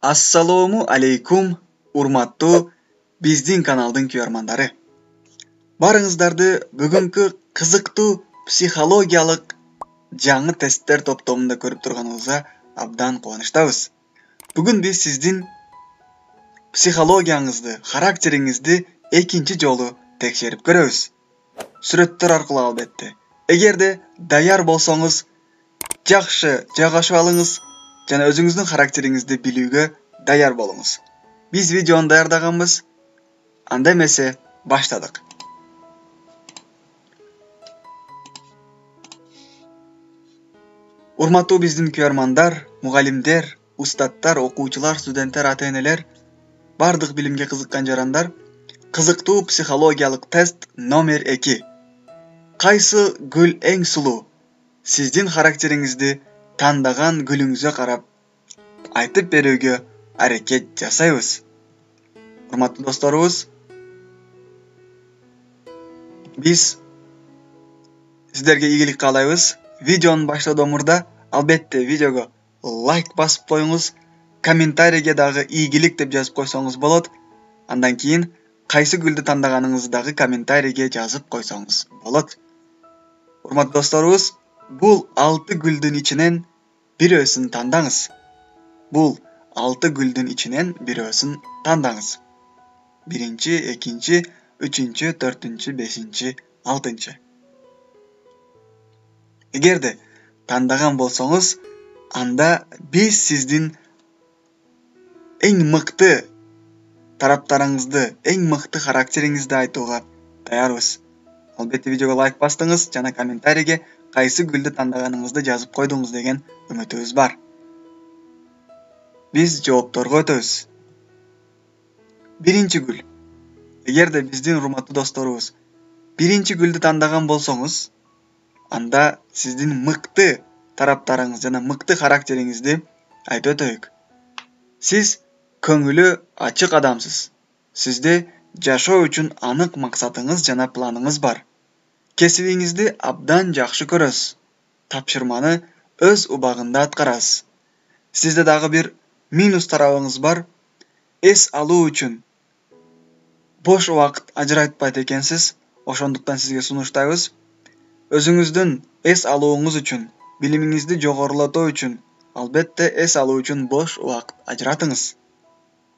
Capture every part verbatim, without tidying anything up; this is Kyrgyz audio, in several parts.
Ассалому алейкум, урматтуу биздин каналдын көрөрмандары. Барыңыздарды бүгүнкү кызыктуу психологиялык жаңы тесттер топтомунда көрүп турганыбызга абдан кубанычтабыз. Бүгүн биз сиздин психологияңызды, характериңизди экинчи жолу текшерип көрөбүз. Сүрөттөр аркылуу албетте. Эгерде даяр болсоңуз, жакшы жайгашып алыңыз жана өзүңүздүн характериңизди билүүгө даяр болуңуз. Биз видеону даярдаганбыз. Анда эмесе баштадык. Урматтуу биздин көрөрмандар, мугалимдер, устаттар, окуучулар, студенттер, ата-энелер, бардык билимге кызыккан жарандар, кызыктуу психологиялык тест номер эки. Кайсы гүл эң сулуу? Сиздин характериңизди тандаган гүлүңүзгө карап айтып берүүгө аракет жасайбыз. Урматтуу досторубуз, биз сиздерге ийгилик каалайбыз. Видеонун баштоодон мурда албетте видеого лайк басып коюңуз, комментарийге дагы ийгилик деп жазып койсоңуз болот. Андан кийин кайсы гүлдү тандаганыңызды дагы комментарийге жазып койсоңуз болот. Урматтуу досторубуз, бул алты гүлдүн ичинен бирөөсүн тандаңыз. Бул алты гүлдүн ичинен бирөөсүн тандаңыз. Биринчи, экинчи, үчүнчү, төртүнчү, бешинчи, алтынчы. Эгерде тандаган болсоңуз, анда биз сиздин эң мыкты тараптарыңызды, эң мыкты характериңизди айтууга даярбыз. Албетте видеого лайк бастыңыз жана комментарийге кайсы гүлдү тандаганыңызды жазып койдуңуз деген үмүтүбүз бар. Биз жоопторго өтөбүз. Биринчи гүл. Эгерде биздин урматтуу досторубуз биринчи гүлдү тандаган болсоңуз, анда сиздин мыкты тараптарыңыз жана мыкты характериңизди айтып өтөйүк. Сиз көңүлү ачык адамсыз. Сизде жашоо үчүн анык максатыңыз жана планыңыз бар. Кесибиңизди абдан жакшы көрөсүз. Тапшырманы өз убагында аткарасыз. Сизде дагы бир минус тарабыңыз бар. Эс алуу үчүн бош убакыт ажыратпайт экенсиз. Ошондуктан сизге сунуштайбыз. Өзүңүздүн эс алууңуз үчүн, билимиңизди жогорулатуу үчүн, албетте эс алуу үчүн бош убакыт ажыратыңыз.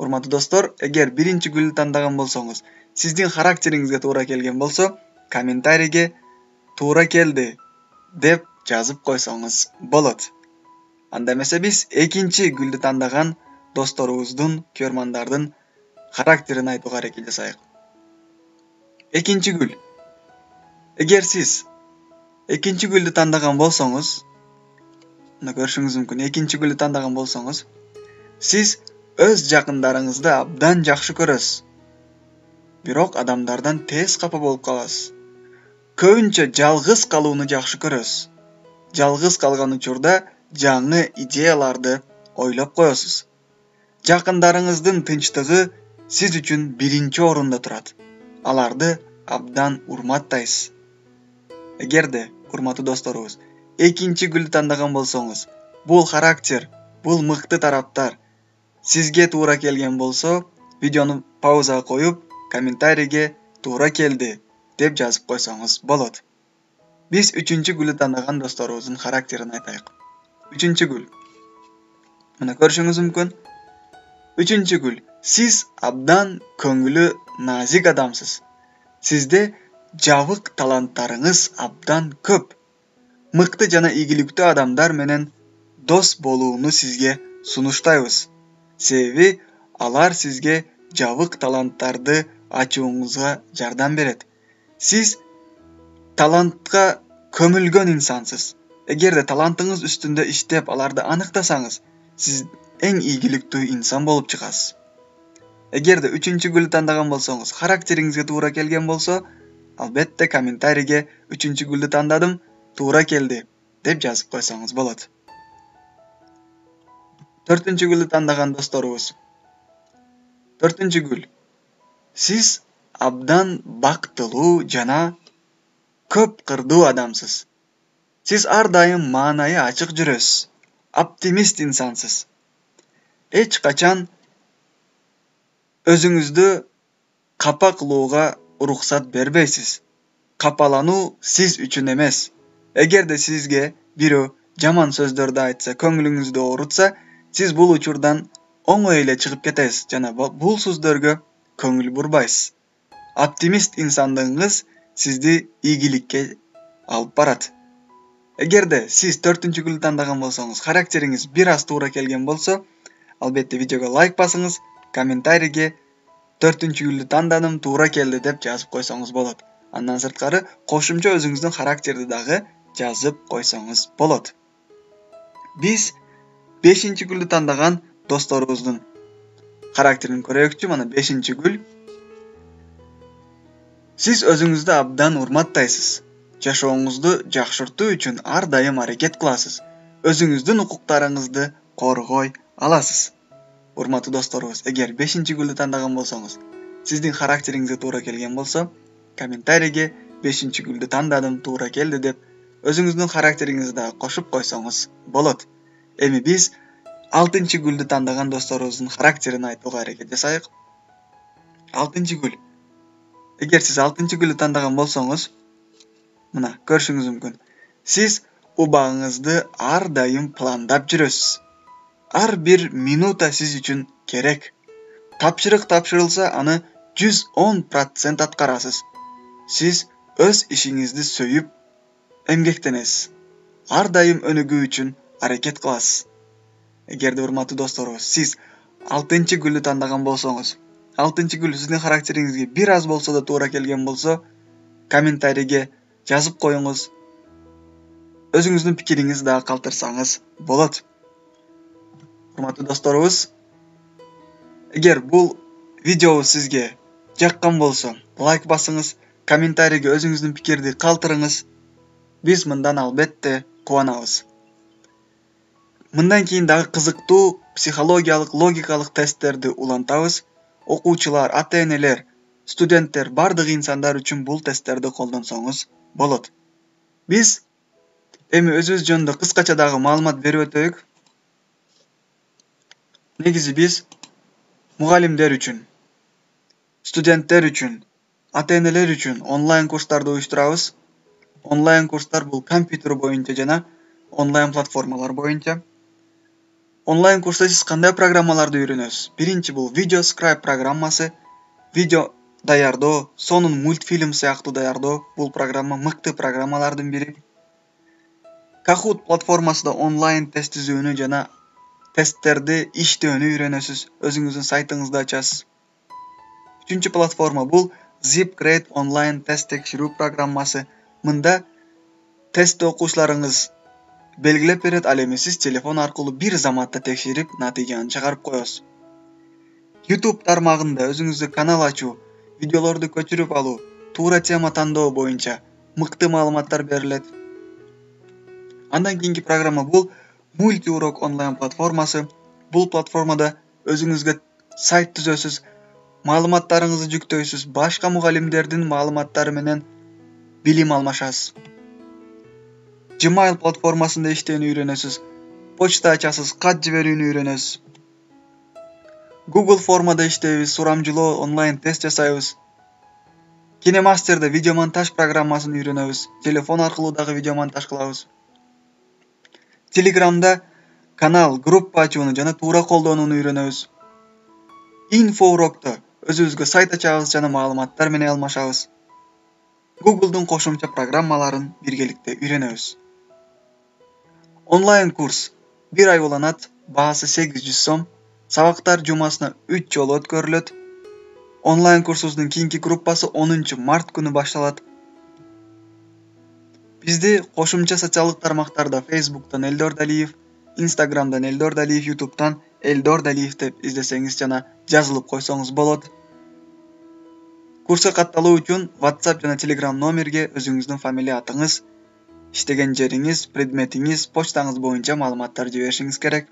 Урматтуу достор, эгер биринчи гүлдү тандаган болсоңуз, сиздин характериңизге туура келген болсо, комментарийге туура келди деп жазып койсоңуз болот. Анда эмесе биз экинчи гүлдү тандаган досторубуздун, көрөрмандардын характерин айтууга аракет жасайык. Экинчи гүл. Эгер сиз экинчи гүлдү тандаган болсоңуз, мына көрүшүңүз мүмкүн, экинчи гүлдү тандаган болсоңуз, сиз өз жакындарыңызды абдан жакшы көрөсүз. Бирок адамдардан тез капа болуп каласыз. Көбүнчө жалгыз калууну жакшы көрөсүз. Жалгыз калган учурда жаңы идеяларды ойлоп коесуз. Жакындарыңыздын тынчтыгы сиз үчүн биринчи орунда турат. Аларды абдан урматтайсыз. Эгерде, урматтуу досторубуз, экинчи гүлдү тандаган болсоңуз, бул характер, бул мыкты тараптар сизге туура келген болсо, видеону паузага коюп, комментарийге туура келди деп жазып койсоңуз болот. Биз үчүнчү гүлдү тандаган досторубуздун характерин айтайык. Үчүнчү гүл. Мына көрүшүңүз мүмкүн. Үчүнчү гүл. Сиз абдан көңүлү назик адамсыз. Сизде жабык таланттарыңыз абдан көп. Мыкты жана ийгиликтүү адамдар менен дос болууну сизге сунуштайбыз. Себеби алар сизге жабык таланттарды ачууңузга жардам берет. Сиз талантка көмүлгөн инсансыз. Эгерде талантыңыз үстүндө иштеп, аларды аныктасаңыз, сиз эң ийгиликтүү инсан болуп чыгасыз. Эгерде үчүнчү гүлдү тандаган болсоңуз, характериңизге туура келген болсо, албетте комментарийге үчүнчү гүлдү тандадым, туура келди деп жазып койсоңуз болот. Төртүнчү гүлдү тандаган досторубуз. Төртүнчү гүл. Сиз абдан бактылуу жана көп кырдуу адамсыз. Сиз ар дайым маанайы ачык жүрөсүз. Оптимист инсансыз. эч качан өзүңүздү капа кылууга уруксат бербейсиз. Капалануу сиз үчүн эмес. Эгерде сизге бирөө жаман сөздөрдү айтса, көңүлүңүздү оорутса, сиз бул учурдан оңой эле чыгып кетесиз жана бул сөздөргө көңүл бурбайсыз. Оптимист инсандыгыңыз сизди ийгиликке алып барат. Эгерде сиз төртүнчү гүлдү тандаган болсоңуз, характериңиз бир аз туура келген болсо, албетте видеого лайк басыңыз, комментарийге төртүнчү гүлдү тандадым, туура келди деп жазып койсоңуз болот. Андан сырткары кошумча өзүңүздүн характерди дагы жазып койсоңуз болот. Биз бешинчи гүлдү тандаган досторубуздун характерин көрөйүкчү. Мана бешинчи гүл. Сиз өзүңүздү абдан урматтайсыз. Жашооңузду жакшыртуу үчүн ар дайым аракет кыласыз. Өзүңүздүн укуктарыңызды коргой аласыз. Урматтуу досторубуз, эгер бешинчи гүлдү тандаган болсоңуз, сиздин характериңизге туура келген болсо, комментарийге бешинчи гүлдү тандадым, туура келди деп өзүңүздүн характериңизди дагы кошуп койсоңуз болот. Эми биз алтынчы гүлдү тандаган досторубуздун характерин айтууга аракет жасайык. алтынчы гүл. Эгер сиз алтынчы гүлдү тандаган болсоңуз, мына көрүшүңүз мүмкүн. Сиз убагыңызды ар дайым пландап жүрөсүз. Ар бир минута сиз үчүн керек. Тапшырык тапшырылса, аны жүз он процент аткарасыз. Сиз өз ишиңизди сөйүп эмгектенесиз. Ар дайым өнүгүү үчүн аракет кыласыз. Эгерде урматтуу досторубуз, сиз алтынчы гүлдү тандаган болсоңуз, алтынчы гүл сиздин характериңизге бир аз болсо да туура келген болсо, комментарийге жазып коюңуз. Өзүңүздүн пикириңизди дагы калтырсаңыз болот. Урматтуу досторубуз, эгер бул видео сизге жаккан болсо, лайк басыңыз, комментарийге өзүңүздүн пикирди калтырыңыз. Биз мындан албетте кубанабыз. Мындан кийин дагы кызыктуу психологиялык, логикалык тесттерди улантабыз. Окуучулар, ата-энелер, студенттер, бардык инсандар үчүн бул тесттерди колдонсоңуз болот. Биз эми өзүбүз жөнүндө кыскача дагы маалымат берип өтөйүк. Негизи биз мугалимдер үчүн, студенттер үчүн, ата-энелер үчүн онлайн курстарды уюштурабыз. Онлайн курстар бул компьютер боюнча жана онлайн платформалар боюнча. Онлайн курста сиз кандай программаларды үйрөнөсүз? Биринчи бул VideoScribe программасы. Видео даярдоо, сонун мультфильм сыяктуу даярдоо. Бул программа мыкты программалардын бири. Kahoot платформасында онлайн тест түзүүнү жана тесттерди иштөөнү үйрөнөсүз. Өзүңүздүн сайтыңызды ачасыз. Үчүнчү платформа бул ZipGrade онлайн тест текшерүү программасы. Мында тест окуучуларыңыз белгилеп берет, ал эми сиз телефон аркылуу бир заматта текшерип, натыйжаны чыгарып коесуз. YouTube тармагында өзүңүздө канал ачуу, видеолорду көчүрүп алуу, туура тема тандоо боюнча мыкты маалыматтар берилет. Андан кийинки программа бул мультиурок онлайн платформасы. Бул платформада өзүңүзгө сайт түзөсүз, маалыматтарыңызды жүктөйсүз, башка мугалимдердин маалыматтары менен билим алмашасыз. Gmail платформасында иштөөнү үйрөнөсүз, почта ачасыз, кат жиберүүнү үйрөнөсүз. Google формада иштейбиз, сурамжылоо, онлайн тест жасайбыз. KineMaster'да видеомонтаж программасын үйрөнөбүз, телефон аркылуу дагы видеомонтаж кылабыз. Telegramда канал, группа ачууну жана туура колдонууну үйрөнөбүз. InfoUrok'то өзүбүзгө сайт ачабыз жана маалыматтар менен алмашабыз. Google'дун кошумча программаларын биргеликте үйрөнөбүз. Онлайн курс бир ай уланат, баасы сегиз жүз сом. Сабактар жумасына үч жолу өткөрүлөт. Онлайн курсубуздун кийинки группасы онунчу март күнү башталат. Бизди кошумча социалдык тармактарда Facebook'тан Элдор Далиев, Instagram'дан Элдор Далиев, YouTube'тан Элдор Далиев деп издесеңиз жана жазылып койсоңуз болот. Курска катталуу үчүн WhatsApp жана Telegram номерге өзүңүздүн фамилия атыңыз, иштеген жериңиз, предметиңиз, почтаңыз боюнча маалыматтар жиберишиңиз керек.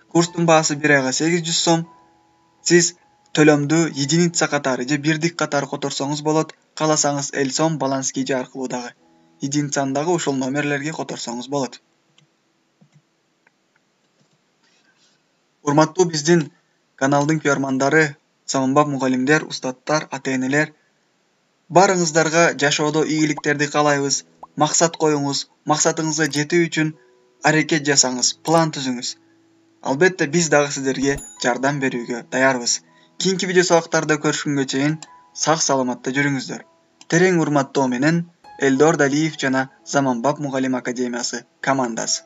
Курстун баасы бир айга сегиз жүз сом. Сиз төлөмдү единица катары же бирдик катары которсоңуз болот. Кааласаңыз Элсом, баланс кийже аркылуу дагы единицаны дагы ушул номерлерге которсоңуз болот. Урматтуу биздин каналдын көрөрмандары, заманбап мугалимдер, устаттар, ата-энелер, баарыңыздарга жашоодо ийгиликтерди каалайбыз. Максат коюңуз, максатыңызга жетүү үчүн аракет жасаңыз, план түзүңүз. Албетте биз дагы сиздерге жардам берүүгө даярбыз. Кийинки видео сабактарда көрүшкөнгө чейин сак саламатта жүрүңүздөр. Терең урматтоо менен Элдор Далиев жана Заманбап мугалим академиясы командасы.